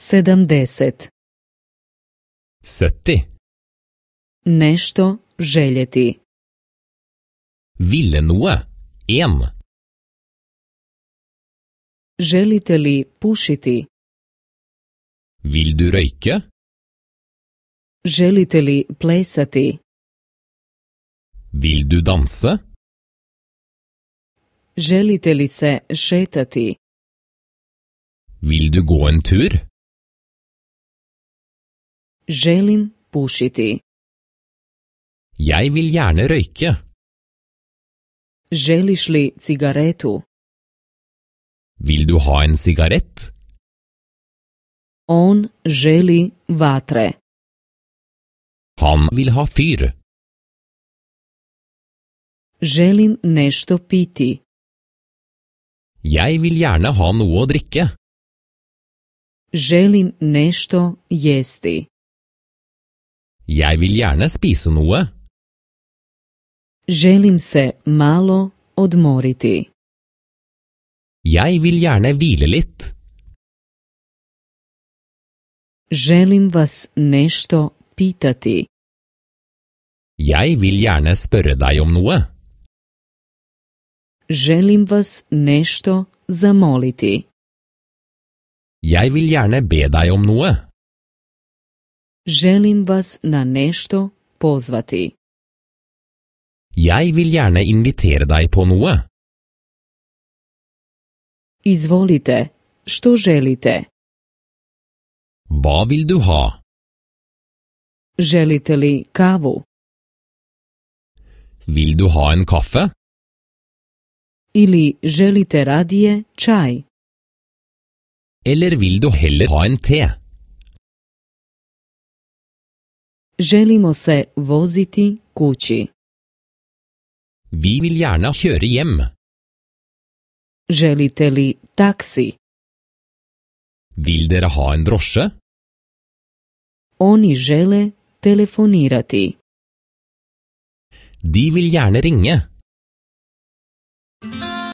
70. 70. Nešto željeti. Ville noe. 1. Želite li pušiti? Vil du røyke? Želite li plesati? Vil du danse? Želite li se šetati? Vil du gå en tur? Želim pušiti. Jeg vil gjerne røyke. Želiš li cigaretu? Vil du ha en sigarett? On želi vatre. Han vil ha fyr. Želim nešto piti. Jeg vil gjerne ha noe å drikke. Želim nešto jesti. Jeg vil gjerne spise noe. Želim se malo odmoriti. Jeg vil gjerne hvile litt. Želim vas nešto pitati. Jeg vil gjerne spørre deg om noe. Želim vas nešto zamoliti. Jeg vil gjerne be deg om noe. Želim vas na nešto pozvati. Jeg vil gjerne invitere deg på noe. Izvolite, što želite? Hva vil du ha? Želite li kavu? Vil du ha en kaffe? Ili želite radije čaj? Eller vil du heller ha en te? Želimo se voziti kući. Vi vil gjerne kjøre hjem. Želite li taksi? Vil dere ha en drosje? Oni žele telefonirati. De vil gjerne ringe.